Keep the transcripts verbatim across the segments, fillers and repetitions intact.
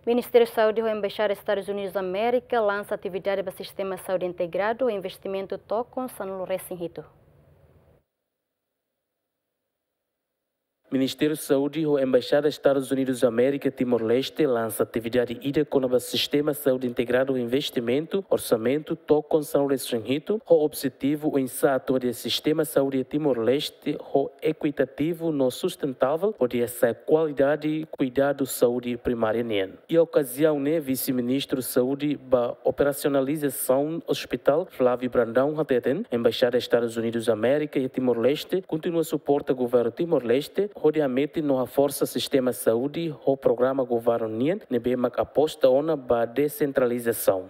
Ministériu Saúde ho Embaixada Estadus Unidus Amérika lansa atividade ba sistema saúde integradu ho investimentu tokon sanulu-resin-hitu. Ministériu Saúde ho Embaixada Estadus Unidus Amérika Timor-Leste lansa atividade ida kona-ba sistema saúde integradu ho investimentu, orsamentu tokon sanulu-resin-hitu, ho objetivu oinsá atu hadi'a sistema saúde Timor-Leste ho ekuitativu no sustentavel, hodi hasa'e kualidade kuidadu saúde primária nian. Iha okaziaun ne'e, Vise-Ministru Saúde ba Operasionalizasaun Ospitál, Flávio Brandão, hateten, Embaixada Estadus Unidus Amérika iha Timor-Leste kontinua suporta Governu Timor-Leste hodi hametin no haforsa sistema saúde ho programa governu nian ne'ebé mak aposta ona ba desentralizasaun.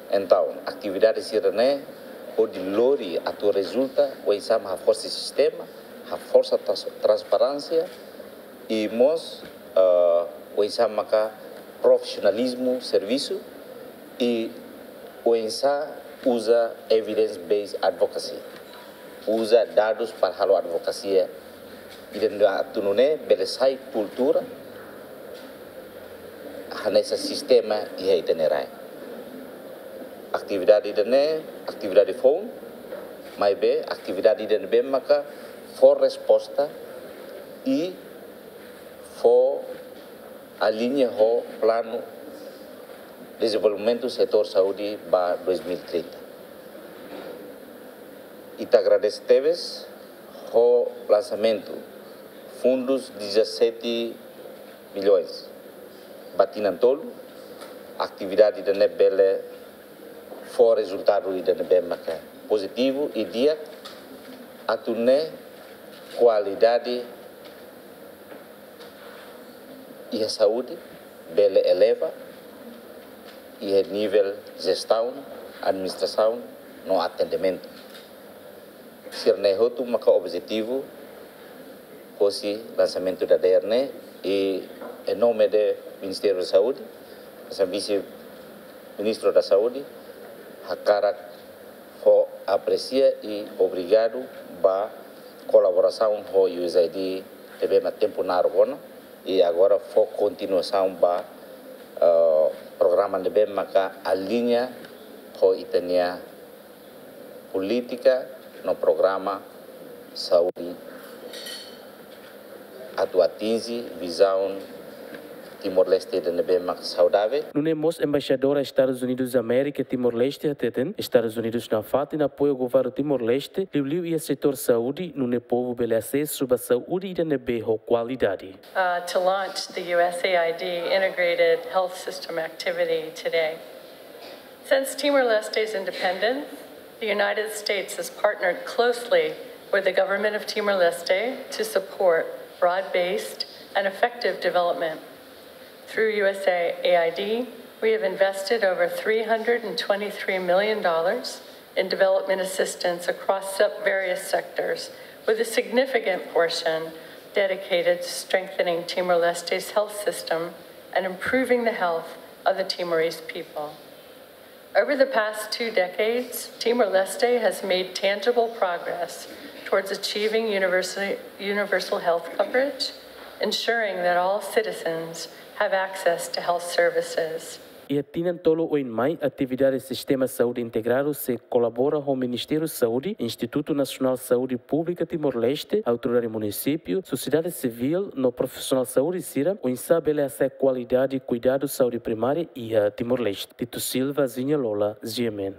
Entaun, atividade sira-ne'e hodi lori atu rezulta oinsá mak haforsa sistema, haforsa trans-, transparénsia, i mós, ah, oinsá maka profisionalizmu servisu, i oinsá uza evidence-based advocacy, uza dadus para halo advokasia, ida-ne'e atu nune'e bele sai kultura hanesan sistema iha ita-nia rai. Atividade ida-ne'e atividade foun, maibé atividade ida ne'ebé maka fó resposta i fó aliña ho planu dezenvolvimentu setór saúde ba dois mil e trinta. Ita agradese tebes ho lansamentu fundus dezassete milhões ba tinan tolu, atividade ida-ne'e bele fó rezultadu ida ne'ebé maka pozitivu i di'ak, atu nune'e kualidade iha saúde bele eleva iha nivel jestaun, administrasaun no atendimentu. Sira-ne'e hotu maka objetivu hosi lansamentu dadeer ne'e, i em nome de Ministério da Saúde, hanesan Vise-Ministru da Saúde, hakarak fó apresia i obrigadu ba kolaborasaun ho U S A I D ne'ebé mak tempu naruk ona, i agora fó kontinuasaun ba, eh, programa ne'ebé maka aliña ho ita-nia polítika no programa saúde atu atinje vizaun Timor-Leste ida ne'ebé mak saudavel. Nune'e mós Embaixadora Estadus Unidus Amérika Timor-Leste hateten, Estadus Unidus nafatin apoia Governu Timor-Leste, liuliu iha setór saúde, nune'e povu bele asesu ba saúde ida ne'ebé ho kualidade. Uh, to launch the U S A I D integrated health system activity today. Since Timor-Leste's independence, the United States has partnered closely with the government of Timor-Leste to support broad-based and effective development. Through U S A I D, we have invested over three hundred and twenty-three million dollars in development assistance across sub-, various sectors, with a significant portion dedicated to strengthening Timor-Leste's health system and improving the health of the Timorese people. Over the past two decades, Timor-Leste has made tangible progress towards achieving universal, universal health coverage, ensuring that all citizens have access to health services. Iha tinan tolu oin mai, atividade sistema saúde integradu sei kolabora ho Ministériu Saúde, Institutu Nasionál Saúde Públika Timor-Leste, autoridade munisípiu, sosiedade sivíl no profisionál saúde sira, oinsá bele hasa'e kualidade kuidadu saúde primária iha Timor-Leste. Tito Silva, Zinha Lola, G M N.